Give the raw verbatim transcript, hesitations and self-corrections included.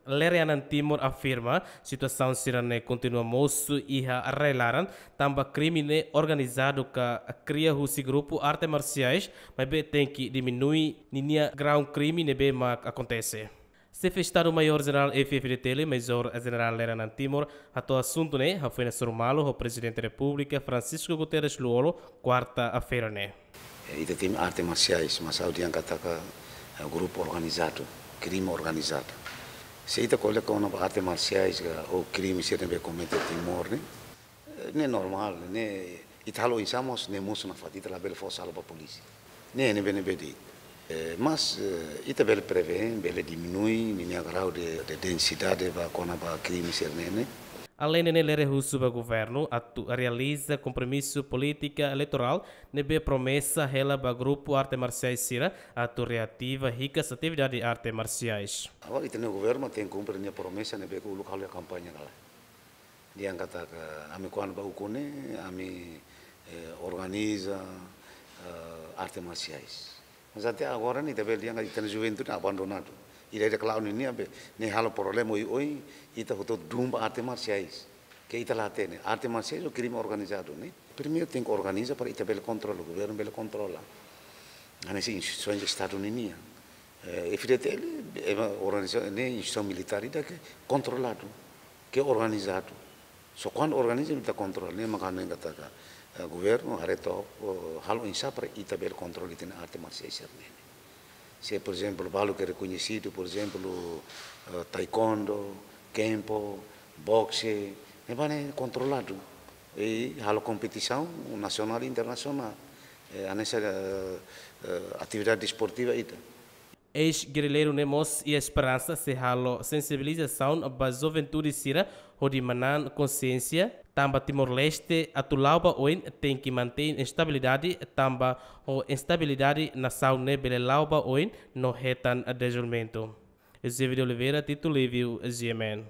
Lere Anan Timor afirma situasaun sira-ne'e kontinua mosu iha rai-laran, tanba krime ne'e organizadu ka kria husi grupu arte marsiais, maibé tenke diminui ninia graun krime ne'ebé mak akontese. Xefe Estadu Maiór Jenerál F-FDTL, Major Jenerál Lere Anan Timor, hato'o asuntu ne'e, hafoin hasoru malu ho Prezidente Repúblika, Francisco Guterres Lú-Olo, kuarta-feira ne'e. Eh, ita temi arte marsiais, mas ha'u dehan katak, eh, grupu organizadu, krime organizadu. Se ita ko'alia kona-ba arte marsiais ka, ou krime sira ne'ebé komete iha Timor ne'e, eh, ne'e normál, ne'e ita halo oinsá mós, ne'e mosu nafatin, ita labele fó sala ba polísia. Ne'e, ne'ebé, ne'ebé de'it. Eh, mas, eh, ita bele prevee, bele diminui ninia grau de, de densidade ba kona-ba krime sira-ne'e ne'e. Aleinde ne'e, Lere husu ba governu atu realiza kompromisu polítika eleitorál ne'ebé promesa hela ba grupu arte marsiais sira atu reativa hikas atividade arte marsiais. Agora, ita-nia governu tenke kumpre ninia promesa ne'ebé ke uluk halo iha kampaña kala. Dehan katak, ami kuandu ba ukun ne'e, ami, eh, organiza, eh, arte marsiais. Mas até agora ne'e ita bele dehan katak ita-nia juventude abandonadu. Ida-idak la'o ninia be, ne'e halo problema oioin, ita hotu dun ba arte marsiais. Ke ita la hatene, arte marsiais ou krime organizadu ne'e. Primeiru tenke organiza para ita bele kontrola, governu bele kontrola. Hanesan instituisaun Estadu ninian. Eh, F-FDTL, ema organiza, ne'e instituisaun militár ida ke kontroladu, ke organizadu. Só kuandu organiza ita kontrola, ne'e mak ha'u hanoin katak, eh, governu haree took, eh, halo oinsá para ita bele kontrola ita-nia arte marsiais sira-ne'e. Se, por ezemplu, balu ke rekoñesidu, por ezemplu, eh, taekwondo, kempo, boxe, ne'ebá ne'e kontroladu. I halo kompetisaun nasionál i internasionál. Eh, hanesan, eh, eh, atividade desportiva ita. Eis-gerrilleiru ne'e mós iha esperansa sei halo sensibilizasaun ba juventude sira hodi manán konsiénsia, tanba Timor-Leste atu la'o ba oin tenke mantein estabilidade, tanba ho instabilidade nasaun ne'e bele la'o ba oin no hetan dezenvolvimentu. Eusébio de Oliveira, Tito Livio, G M N.